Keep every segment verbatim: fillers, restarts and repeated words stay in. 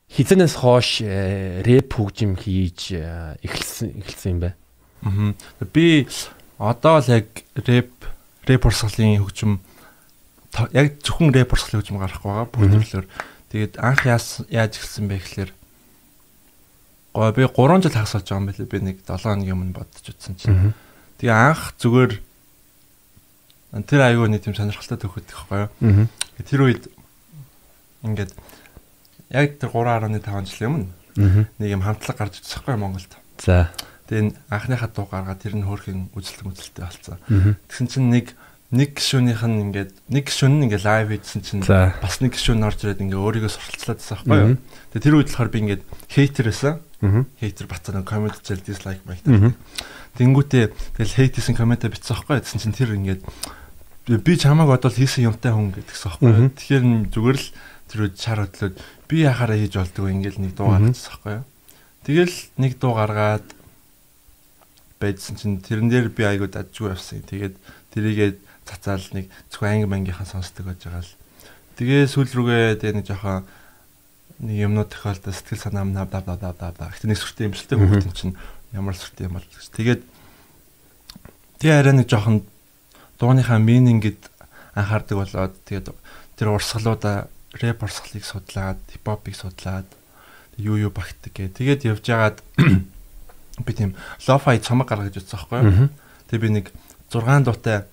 хизэнээс хойш рэп хөгжим хийж эхэлсэн эхэлсэн юм бэ? Аа. Би одоо л яг рэп рэп урсгалын хөгжим яг зөвхөн рэп урсгалын хөгжим гарахгүй байгаа бүх төрлөөр. Тэгээд анх яаж эхэлсэн бэ гэхээр гоо би гурван жил хагас болж байгаа юм билээ. Би нэг долоон хоногийн өмнө бодож утсан чинь. Тэгээ анх зүгээр тэр аюу нэг тийм сонирхолтой төгөд байхгүй юу. Тэр үед ингээд яг тэр гурван гаруй таван жилийн өмнө нэг юм хамтлаг гарч ирсэн байхгүй Монголд. За. Тэгээ анхныхаа дуу гаргаад тэр нь хөөрхөн үзэлт үзэлттэй болсон. Тэгсэн чинь нэг нэг гишүүнийх нь ингээд нэг гишүүн нь ингээд лайв хийсэн чинь бас нэг гишүүн орж ирээд ингээд өөрийгөө сурталчлаад байсан байхгүй юу. Тэгээ тэр үед болохоор би ингээд хейтер байсан. Хейтер бацаа нэг коммент зэл дизлайк байт. Тэнгүүтээ тэгэл хейтсэн комментэ бичсэн байхгүй. Тэгсэн чинь тэр ингээд би чамааг бодвол хийсэн юмтай хүн гэдэгсэн байхгүй. Тэгэхээр зүгээр л тэр үед чар хөдлөөд би яхаараа хийж болдгоо ингээд нэг дуу гаргацсан байхгүй юу. Тэгэл нэг дуу гаргаад байдсан чинь тэрэн дээр би айгуу дажгүй явсан. Тэгээд тэрийгээ цацаал нэг зөвхөн анги мангийнхаа сонсдог байж байгаа л. Тэгээ сүүл рүүгээ тэгээ нэг жоохон нэг юмнууд тохиолдол сэтгэл санаа нав дав дав дав дав. Гэтэ нэг сүртэй юмшилтэй хүүхдэн чинь ямар сүртэй юм бол гэж. Тэгээд тэгээ арай нэг жоохон дууныхаа минингэд анхаардаг болоод тэгээд тэр урсгалуудаа рэп урсгалыг судлаад, хипхопыг судлаад юу юу багтдаг гэ. Тэгээд явж байгаад би тийм лофай цомог гаргаж утсан байхгүй юу. Тэгээ би нэг зургаан дуутай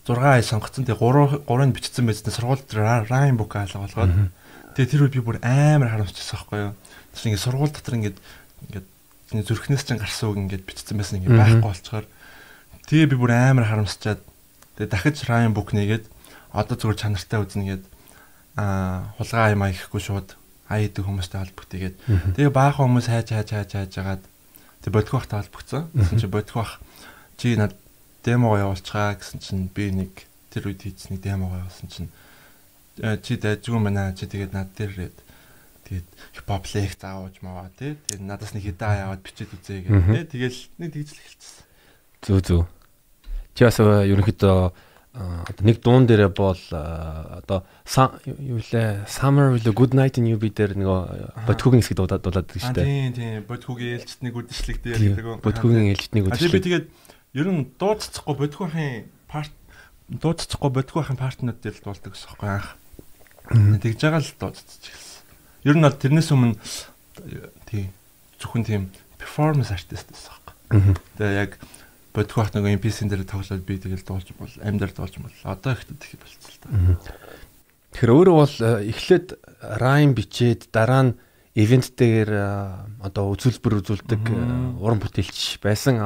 зургаан ай сонгоцсон. Тэгээ гурав гурыг бичсэн байцтай сургуульд райм бук хаалга болгоод тэгээ тэр үед би бүр амар харамсчихсан байхгүй юу. Тэр ингээд сургууль дотор ингээд ингээд зүрхнээс чинь гарсан үг ингээд бичсэн байсан ингээд байхгүй болчоор тэгээ би бүр амар харамсчаад тэгээ дахиж райм бук нэгээд одоо зүгээр чанартай үзнэ гээд аа хулгай аймаа ихгүй шууд ай идэг хүмүүстэй холбогдъгээд тэгээ баахан хүмүүс хайж хайж хайж хайж агаад тэг бодгох бахтай холбогдсон. Гэсэн чи бодгох бах чи над демого явуулчихаа гэсэн чинь би нэг тэр үед хийсэн нэг демого явуулсан чинь чи дайжгүй мэнэ чи тэгээд над дээр ирээд тэгээд хипхоп лекц заавж маваа тий тэгээд надаас нэг хидаа яваад бичээд үзье гэх тий тэгэл нэг тэгжл эхэлчихсэн. Зүг зүг. Чи бас ерөнхийдөө одоо нэг дуун дээрээ бол одоо юу лээ Summer with a Good Night in U B дээр нөгөө Бодхогийн хэсэг дуулаад дуулаад байдаг шүү дээ. Тийм тийм Бодхогийн ээлжтний үдшилэг дээр гэдэг. Бодхогийн ээлжтний үдшилэг. Би тэгээд ер нь дууцчихгүй Бодхогийн парт дууцчихгүй Бодхогийн партнууд дээр л дуулдаг гэсэн юм анх. Тэгж байгаа л дууцчих эхэлсэн. Ер нь бол тэрнээс өмнө тийм зөвхөн тийм performance artist байсан юм. Тэгээ яг бодгох нэг эм пи эс-ийн дээр тоглоод би тэгэл дуулж бол амьдар дуулж бол одоо ихтэй их болцсон л та. Тэгэхээр өөрөө бол эхлээд райм бичээд дараа нь ивент дээр одоо үзүүлбэр үзүүлдэг уран бүтээлч байсан.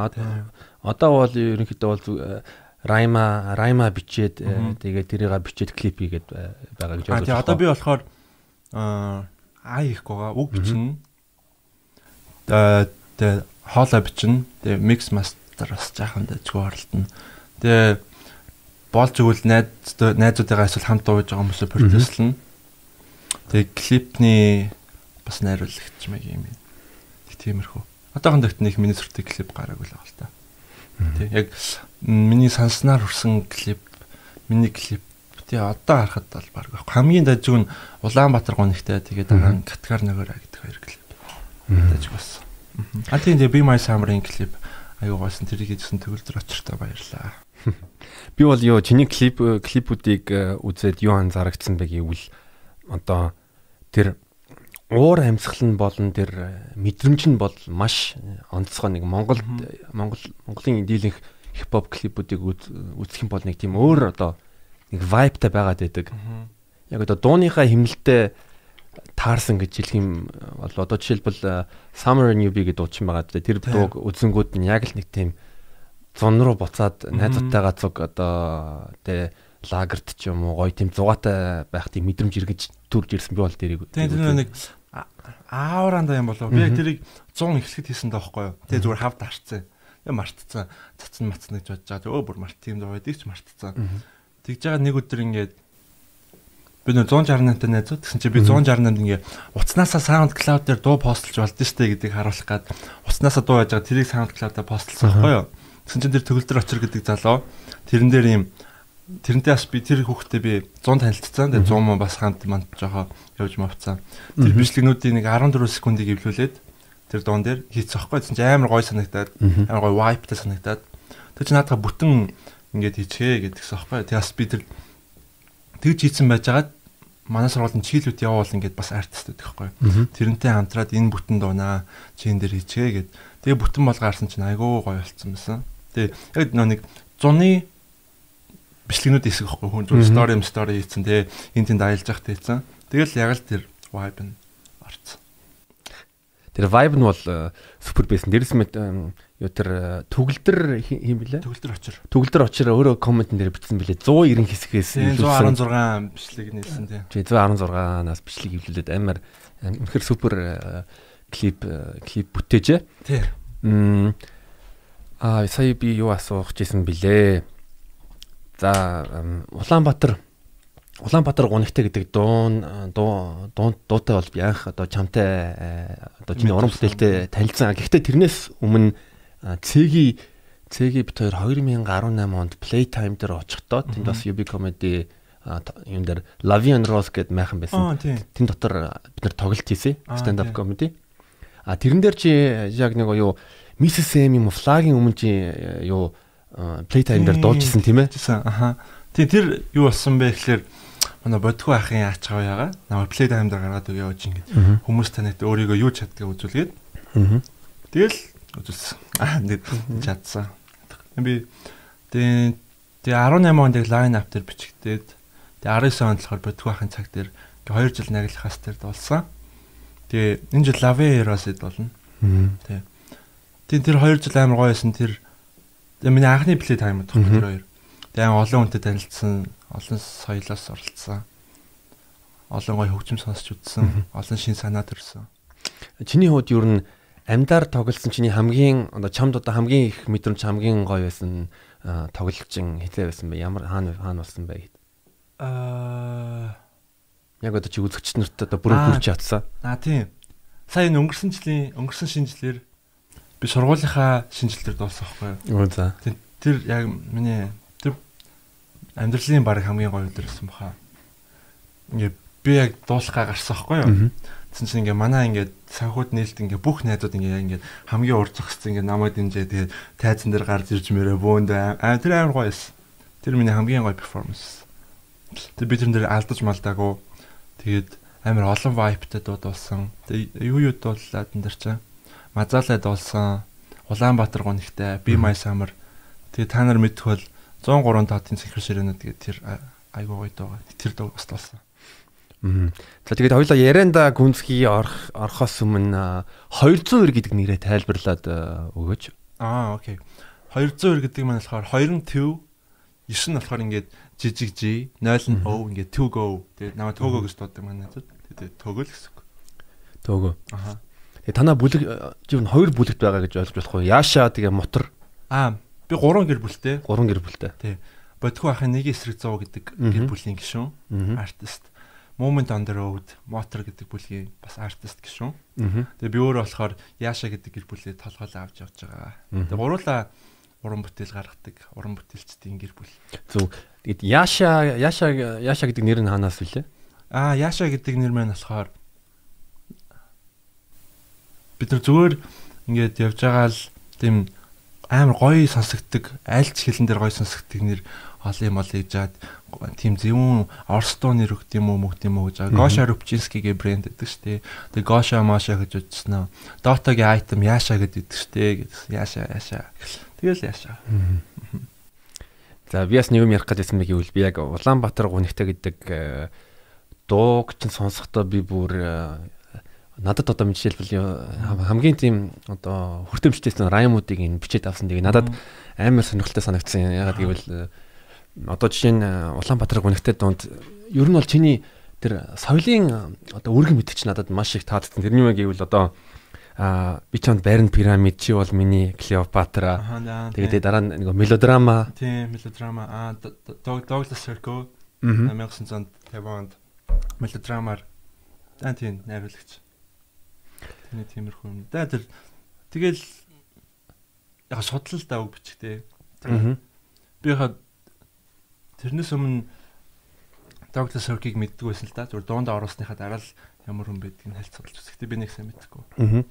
Одоо бол ерөнхийдөө бол райма райма бичээд тэгээд тэрийг бичээд клип хийгээд байгаа гэж бодож байна. А одоо би болохоор аа их гоо үг бичнэ. Тэгээ хоолой бичнэ. Тэгээ микс мастер бас жаахан дэжгүй оролдоно. Тэгээ болж игэл найз найзуудыгаа эсвэл хамт дууж байгаа хүмүүсээ продюслно. Тэгээ клипний бас найруулагч мэг юм. Тэг тиймэрхүү. Одоохон дэхт нэг миний сүртэй клип гараагүй л байгаа л та. Тэг яг миний санснаар хүрсэн клип, миний клип тий одоо харахад бол баг хамгийн дажиг нь Улаанбаатар гонигтай тэгээд дараа нь Каткар ногоороо гэдэг хоёр клип. Дажиг бас. А тийм дээ Be My Summer-ын клип аюу гоосон тэрийг хийсэн төгөлдөр очиртой баярлаа. Би бол юу чиний клип клипүүдийг үзээд юу анзаарчихсан бэ гэвэл одоо тэр уур амьсгал нь болон тэр мэдрэмж нь бол маш онцгой нэг Монгол Монгол Монголын дийлэнх хипхоп клипүүдийг үзэх юм бол нэг тийм өөр одоо нэг вайбтай байгаад байдаг. Яг одоо дууныхаа хэмнэлтэд таарсан гэж хэлэх юм бол одоо жишээлбэл Summer in U B гэдэг дуучин байгаа. Тэр дууг үзэнгүүд нь яг л нэг тийм зун руу буцаад найзуудтайгаа цуг одоо тэ лагерт ч юм уу гоё тийм зугаатай байх тийм мэдрэмж эргэж төрж ирсэн би бол тэрийг. Тэгээд нэг аавранда юм болов. Би тэрийг цун эхлэхэд хийсэн даахгүй юу. Тэгээ зүгээр хавд харцсан. Я мартцсан. Цацсан мацсан гэж бодож байгаа. Өө бүр март тийм дуу байдгийг ч мартцсан. Тэгж байгаа нэг өдөр ингээд би нөө one sixty-eight найзууд гэсэн чи би one sixty-eight ингээ уцнаасаа SoundCloud дээр дуу постлж болдсон штэ гэдгийг харуулах гад уцнаасаа дуу яаж байгаа тэрийг SoundCloud-аа постлсан байхгүй юу. Гэсэн чи тэр төгөлдөр очир гэдэг залуу тэрэн дээр ийм тэрнтэй бас би тэр хүүхдээ би сто танилцсан. Тэгээ сто мөн бас хамт манд жохоо явж мавцсан. Тэр бичлэгнүүдийн нэг дөрвөн секундыг эвлүүлээд тэр дуун дээр хийцсэн байхгүй. Тэгсэн чинь амар гоё санагдаад амар гоё вайптай санагдаад тэр чинь наадах бүтэн ингээд хийчихээ гэдгсэн байхгүй. Тэгээс би тэр тэгж хийцэн байжгаад манай сургуулийн чийлүүд явуул ингээд бас артист байдаг байхгүй. Тэрнтэй хамтраад энэ бүтэн дуунаа чин дээр хийчихээ гэд. Тэгээ бүтэн болгаарсан чинь айгүй гоё болцсон байсан. Тэгээ яг нэг зуны бичлэгнүүд хийсэх байхгүй хүн зөв стори юм стори хийцэн тэгээ энэ тэнд аялж явах хийцэн. Тэгэл яг л тэр vibe нь орцсон. Тэр vibe нь бол супер байсан. Дээрс мэд юу тэр төгөлдөр юм блэ? Төгөлдөр очир. Төгөлдөр очир өөрөө комментэн дээр бичсэн блэ сто девяносто хэсгээс сто арван зургаан бичлэг нээсэн тий. Тий сто арван зургаанаас бичлэг хэвлүүлээд амар үнэхээр супер клип клип бүтээжээ. Тий. Мм аа сая би юу асуух гэсэн блэ? За Улаанбаатар Улаанбаатар гунигтай гэдэг дуун дуу дуутай бол би анх одоо чамтай одоо чиний уран бүтээлтэй танилцсан. Гэхдээ тэрнээс өмнө цэгийн цэгийн бит хоёр deux mille дix-eight онд Playtime дээр очихдоо тэнд бас ю би comedy юм дээр Lavi and Rose гэдэг майхан байсан. Тэн дотор бид нар тоглолт хийсэн. Stand up comedy. А тэрэн дээр чи яг нэг юу Missus M юм флагийн өмнө чи юу Playtime дээр дуулжсэн тийм ээ? Аха. Тий тэр юу болсон бэ гэхээр манай бодхоо ахын аач хавьяага намайг Playtime дээр гаргаад өгөө явж ингэж хүмүүс танайд өөрийгөө юу чаддгийг үзүүлгээд. Тэгэл үзүүлсэн. Аа нэг чадсан. Би тий тий eighteen онд яг line up дээр бичигдээд тий nineteen онд болохоор бодхоо ахын цаг дээр хоёр жил наглахаас дээр дуулсан. Тэгээ энэ жил Lavi Heroes-д болно. Тий. Тий тэр хоёр жил амар гоё байсан. Тэр тэгээ миний анхны Playtime тох тэр хоёр. Тэгээ олон хүнтэй танилцсан, олон соёлоос оролцсон. Олон гоё хөгжим сонсч үзсэн, олон шин санаа төрсөн. Чиний хувьд юу н амьдаар тоглосон чиний хамгийн одоо чамд одоо хамгийн их мэдрэмж хамгийн гоё байсан тоглолчин хитэ байсан бэ? Ямар хаана хаана болсон бэ? Аа яг одоо чи үзэгч нарт одоо бүрэн хүрч чадсан. Аа тийм. Сая энэ өнгөрсөн жилийн өнгөрсөн шинжилгээр би сургуулийнхаа шинжилгээр дууссан байхгүй юу? Оо за. Тэр яг миний тэр амьдралын баг хамгийн гоё өдөр байсан баха. Ингээ би яг дуусхаа гарсан байхгүй юу? Тэгсэн чинь ингээ манай ингээ санхуд нээлт ингээ бүх найзууд ингээ ингээ хамгийн урд зогссон ингээ намайг дэмжээ тэгээд тайзан дээр гарч ирж мөрөө бөөнд аа тэр амар гоё байсан. Тэр миний хамгийн гоё перформанс. Тэр би тэр дээр алдаж малдаагүй. Тэгээд амар олон vibe-тай дуудсан. Тэгээд юу юу дуулаад энэ дэр чинь Мазалай дуулсан, Улаанбаатар гунигтай, Be My Summer. Тэгээ та нар мэдэх бол one oh three таатын сахир ширэнүүд тэгээ тэр айгуу гоё дуугаа. Тэр дуу бас дуулсан. Аа. За тэгээд хоёулаа ярианда гүнзгий орох орохоос өмнө two hundred гэдэг нэрээ тайлбарлаад өгөөч. Аа, окей. two hundred гэдэг маань болохоор two nine нь болохоор ингээд жижиг G, zero нь O ингээд to go. Тэгээд намайг Togo гэж дууддаг маань надад. Тэгээд Togo л гэсэн үг. Togo. Аха. Тэгээ танаа бүлэг юу хоёр бүлэгт байгаа гэж ойлгож болох уу? Яаша тэгээ мотор. Аа, би гурван гэр бүлтэй. Гурван гэр бүлтэй. Тий. Бодхоо ахын нэг эсрэг зов гэдэг гэр бүлийн гишүүн, артист. Moment on the road, мотор гэдэг бүлгийн бас артист гишүүн. Тэгээ би өөрөө болохоор Яаша гэдэг гэр бүлээ толгойлоо авч явж байгаа. Тэгээ гуруула уран бүтээл гаргадаг, уран бүтээлчдийн гэр бүл. Зөв. Тэгээд Яаша, Яаша, Яаша гэдэг нэр нь хаанаас вүлээ? Аа, Яаша гэдэг нэр маань болохоор бид нар зүгээр ингээд явж байгаа л тийм амар гоё сонсогддог, айлч хэлэн дээр гоё сонсогддог нэр олон юм ол хийж жаад тийм зөвүүн Орстоо нэр өгд юм уу мөгд юм уу гэж. Гоша Рупчинскигийн брэнд гэдэг штэ. Тэгээ Гоша Маша гэж үзсэн нь. Дотагийн айтем Яаша гэдэг штэ гэсэн. Яаша Яаша. Тэгэл Яаша. За би бас нэг юм ярих гэсэн мэг ивэл би яг Улаанбаатар гунигтай гэдэг дууг чинь сонсохдоо би бүр надад одоо жишээлбэл хамгийн тийм одоо хүртээмжтэйсэн раймуудыг ин бичээд авсан. Тэгээ надад амар сонирхолтой санагдсан. Ягаад гэвэл одоо жишээ нь Улаанбаатар гунигтай донд ер нь бол чиний тэр соёлын одоо үргэн мэдчих надад маш их таалагдсан. Тэрний мэг гэвэл одоо а би чамд Барин пирамид чи бол миний Клеопатра. Тэгээд дараа нь нэг мелодрама. Тийм, мелодрама. А Douglas Sirko nineteen fifty онд мелодрамаар дан тийм найруулагч. Тэний тиймэрхүү юм. Да тэр тэгэл яг судлал даа үг бичихтэй. Би хаа тэрнээс өмнө доктор Соркиг мэддэг байсан л да. Зүгээр дуунд оруулсныхаа дараа л ямар хүн байдгийг хэлж судалж үзсэн. Гэтэ би нэг сайн мэдэхгүй. Аа.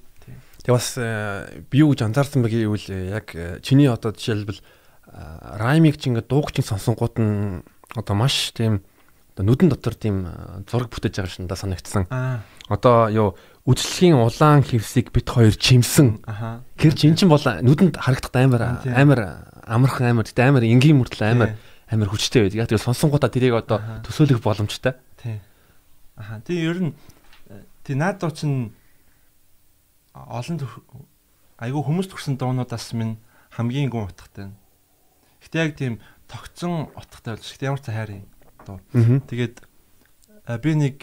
Тэгээ бас би юу гэж анзаарсан бэ гэвэл яг чиний одоо жишээлбэл раймыг чи ингээд дуугч сонсонгууд нь одоо маш тийм одоо нүдэн дотор тийм зураг бүтээж байгаа шиндаа санагдсан. Одоо юу үжлэгийн улаан хевсийг бит хоёр чимсэн. Тэр чин чин бол нүдэнд харагдах амар амар амархан амар тэ амар энгийн мөртөл амар амар хүчтэй байдаг. Яг тэр сонсонгуудаа тэрийг одоо төсөөлөх боломжтой. Тий. Аха. Тэгээ ер нь тий наадуу чин олон айгүй хүмүүс төрсэн дуунуудаас минь хамгийн гүн утгатай. Гэтэ яг тийм тогтсон утгатай болж гэхдээ ямар ч хайрын дуу. Тэгээд би нэг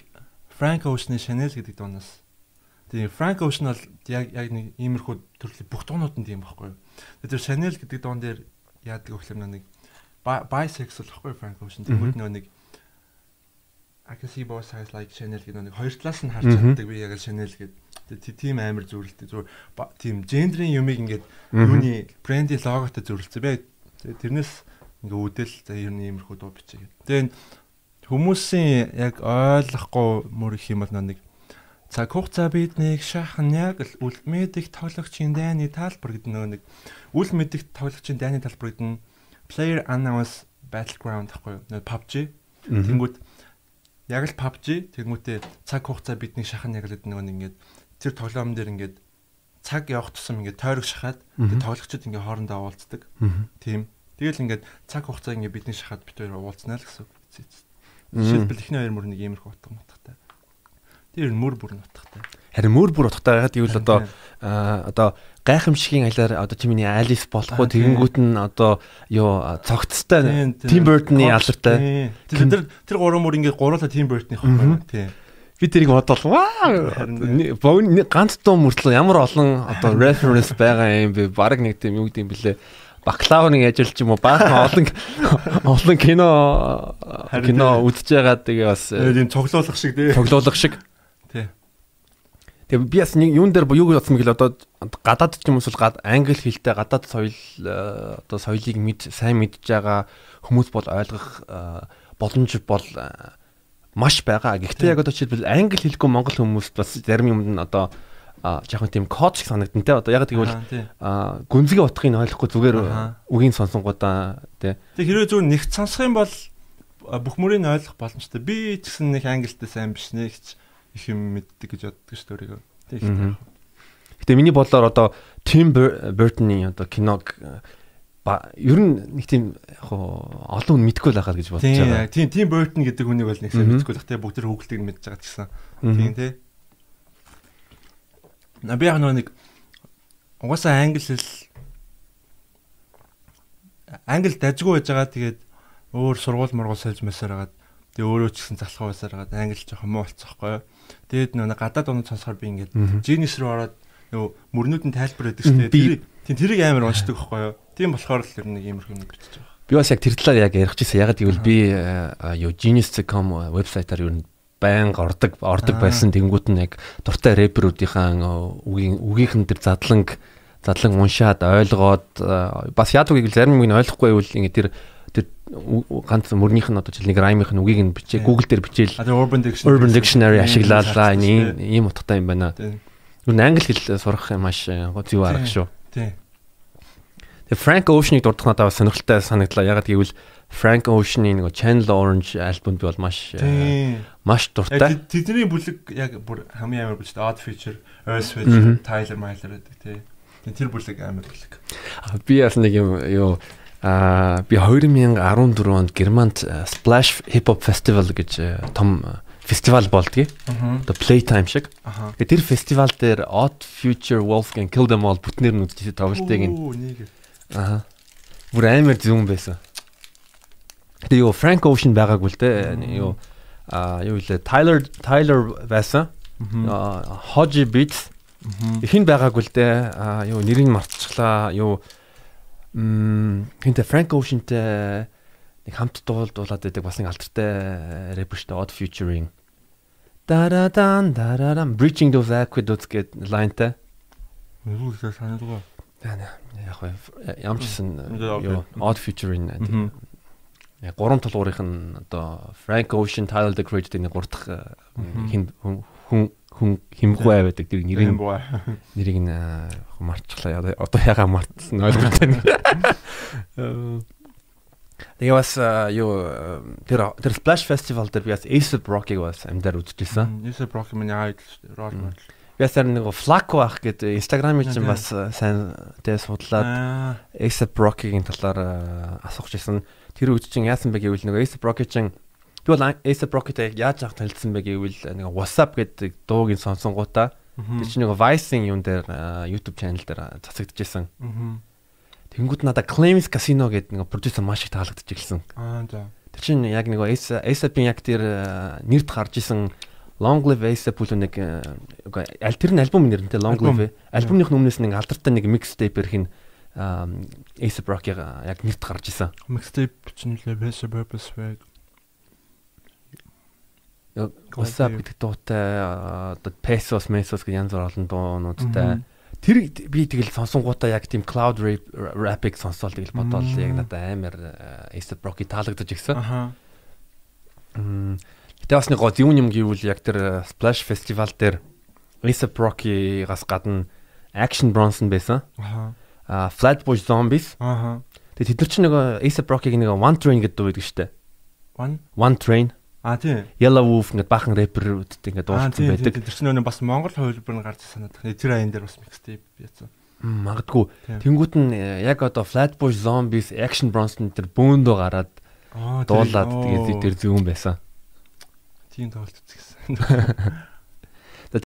Frank Ocean-ы Chanel гэдэг дуунаас тэгээ Frank Ocean бол яг яг нэг иймэрхүү төрлийн бүх дуунууд нь тийм байхгүй юу. Тэр Chanel гэдэг дуун дээр яадаг вэ гэхээр нэг bisexual байхгүй Frank Ocean тэгвэл нэг I can see both sides like Chanel гэдэг нэг хоёр талаас нь харж чаддаг би яг Chanel гэдэг тийм амар зүрэлтэй зүгээр тийм гендрийн юмыг ингээд юуны брендийн логотой зүрэлцээ би тэрнээс ингээ үдэл за ер нь иймэрхүү дуу бичээ гэдэг. Тэгээ хүмүүсийн яг ойлгохгүй мөр их юм бол нэг цаг хугацаа биднийг шахан яг л үл мэдих тоглогчийн дайны талбар гэдэг нэг үл мэдих тоглогчийн дайны талбар гэдэг нь Player Unknown's Battleground гэхгүй юу? паб джи. Тэнгүүд яг л паб джи тэнгүүтээ цаг хугацаа биднийг шахан яг л гэдэг нэг ингээд тэр тоглоом дээр ингээд цаг явах тусам ингээд тойрог шахаад тэр тоглогчид ингээд хоорондоо уулздаг. Тийм. Тэгэл ингээд цаг хугацаа ингээд бидний шахаад бид хоёр уулзнаа л гэсэн үг. Жишээлбэл эхний хоёр мөр нэг иймэрхүү утга утгатай. Тэр мөр бүр утгатай. Харин мөр бүр утгатай байгаад ивэл одоо одоо гайхамшигын алиар одоо чиний Алис болох уу тэгэнгүүт нь одоо юу цогцтой Tim Burton-ы алдартай. Тэр тэр гурван мөр ингээд гуруула Tim Burton-ийн хоо. Тийм. Би тэрийг бодвол ваа ганц дуу мөртлөө ямар олон одоо reference байгаа юм бэ? Бараг нэг тийм юу гэдэг юм блэ? Бакалаврын ажил ч юм уу баахан олон олон кино кино үзэж байгаа тэгээ бас тийм цоглуулах шиг тий. Цоглуулах шиг. Тий. Тэгээ би бас нэг юун дээр юу гэж бодсон мэгэл одоо гадаад ч юм уус бол англи хэлтэй гадаад соёл одоо соёлыг мэд сайн мэдж байгаа хүмүүс бол ойлгох боломж бол маш байгаа. Гэхдээ яг одоо жишээлбэл англи хэлгүй монгол хүмүүс бас зарим юмд нь одоо жоохон тийм код шиг санагдана те. Одоо яг тэгвэл гүнзгий утгыг ойлгохгүй зүгээр үгийн сонсонгуудаа те. Тэг хэрвээ зүгээр нэгт сонсох юм бол бүх мөрийг ойлгох боломжтой. Би ч гэсэн нэг англитэй сайн биш нэгч их юм мэддэг гэж боддог шүү дээ өөрийгөө. Гэтэ миний бодлоор одоо Tim Burton-ы одоо киног ер нь нэг тийм яг олон хүн мэдгүй л байхаа гэж бодож байгаа. Тийм Tim Burton гэдэг хүнийг бол нэг сайн мэдгүй л те. Бүгд тэр хүүхэлтийг мэдж байгаа ч гэсэн. Тийм те. Би яг нэг угаасаа англи хэл англи дажгүй байж байгаа тэгээд өөр сургууль мургуул сольж масаар хагаад тэгээд өөрөө ч гэсэн залхуу байсаар хагаад англи жоохон муу болцсохгүй юу. Тэгээд нэг гадаад оноо сонсохоор би ингээд Genius руу ороод нөгөө мөрнүүд нь тайлбар өгдөг шүү дээ. Тийм тэрийг амар уншдаг байхгүй юу. Тийм болохоор л ер нь нэг иймэрхүү юм бичиж байгаа. Би бас яг тэр талаар яг ярих гэсэн. Ягаад гэвэл би юу genius dot com вебсайтаар ер нь байнга ордог ордог байсан. Тэнгүүд нь яг дуртай рэперүүдийнхаа үгийн үгийнхэн тэр задланг задлан уншаад ойлгоод бас яадаг гэвэл зарим юм ойлгохгүй байвал ингэ тэр тэр ганц мөрнийх нь одоо жишээ нэг раймынх нь үгийг нь бичээ Google дээр бичээл Urban Dictionary Urban Dictionary ашиглалаа ийм ийм утгатай юм байна. Юу англи хэл сурах маш зөв арга шүү. Тийм. Тэгээ Frank Ocean-ыг дурдах надад бас сонирхолтой санагдлаа. Ягаад гэвэл Frank Ocean-ы нэг Channel Orange альбомд би бол маш маш дуртай. Тэдний бүлэг яг бүр хамгийн амар бүлэгтэй Odd Future, Earth Switch, Tyler Myler гэдэг тий. Тэр бүлэг амар бүлэг. Би бас нэг юм юу аа би two thousand fourteen онд Германд Splash Hip Hop Festival гэж том фестивал болдгийг. Одоо Playtime шиг. Тэгээ тэр фестивал дээр Odd Future, Wolfgang, Kill Them All бүтнээр нь үзчихсэн тоглолтыг нь. Аа. Бүр амар зүн байсан. Тэгээ юу Frank Ocean байгаагүй л дээ. Юу аа юу вэ? Tyler Tyler байсан. Аа Hodge Beats. Хин байгаагүй л дээ. Аа юу нэрийг мартчихлаа. Юу м хинтэ Frank Ocean-тэй нэг хамт дуулуулад байдаг бас нэг алдартай рэпер шүү дээ. Odd Future-ийн Дарадан дарарам Breaching those aqueducts гэдэг лайнтай. Юу гэж санагдав? Яг ямар ч гэсэн юу Odd Future-ийн гурван тулгуурынх нь одоо Frank Ocean, Tyler the Creator нэг гурдах хин хүн хүн химгүй байдаг. Тэр нэрийг нэрийг нь марцглаа. Одоо ягаа мартсан ойлголтой. Тэгээ бас юу тэр тэр Splash Festival дээр би бас A$эй пи Rocky-г бас амдаар үзчихсэн. A$эй пи Rocky миний айд рол модел. Би бас нэг Flaco ах гэдэг Instagram-ийн чинь бас сайн тэгээ судлаад A$эй пи Rocky-гийн талаар асуух гэсэн. Тэр үед чинь яасан бэ гэвэл нэг A$эй пи Rocky чинь би бол A$эй пи Rocky-тай яаж анх танилцсан бэ гэвэл нэг WhatsApp гэдэг дуугийн сонсонгуудаа тэр чинь нэг Vice-ийн юун дээр YouTube channel дээр цацагдчихсан. Тэнгүүд надад Claims Casino гэдэг нэг продюсер маш их таалагдчих эхэлсэн. Аа за. Тэр чинь яг нэг A$эй пи яг тэр нэрд гарч исэн Long Live A$эй пи бүл нэг аль тэр нь альбом нэрнтэй Long Live. Альбомных өмнөөс нэг алдартай нэг mixtape ирэх нь A$эй пи Rocky яг нэрд гарч исэн. Mixtape чинь л Best Purpose Swag. WhatsApp гэдэг дуутай одоо Pesos, Mesos гэх янз бүр олон дуунуудтай. Тэр би тэгэл сонсонгуудаа яг тийм cloud rap-ыг сонсоол тэгэл бодоол яг надад амар A$эй пи Rocky таалагдаж ирсэн. Аха. Мм тэгээ бас нэг гол юм юм гэвэл яг тэр Splash Festival дээр A$эй пи Rocky-гаас гадна Action Bronson байсан. Аха. А Flatbush Zombies. Аха. Тэгээ тэд нар чинь нэг A$эй пи Rocky-г нэг One Train гэдэг дуу байдаг штэ. One One Train. А тийм. Yellow Wolf ингээд бахан рэперүүдтэй ингээд дуулсан байдаг. Тэр чинь нөгөө бас Монгол хувилбар нь гарч санаад байна. Тэр аян дээр бас mixtape яцсан. Магадгүй. Тэнгүүт нь яг одоо Flatbush Zombies, Action Bronson тэр бөөндөө гараад дуулаад тэгээд тэр зүүн байсан. Тийм тоглолт үзсэн.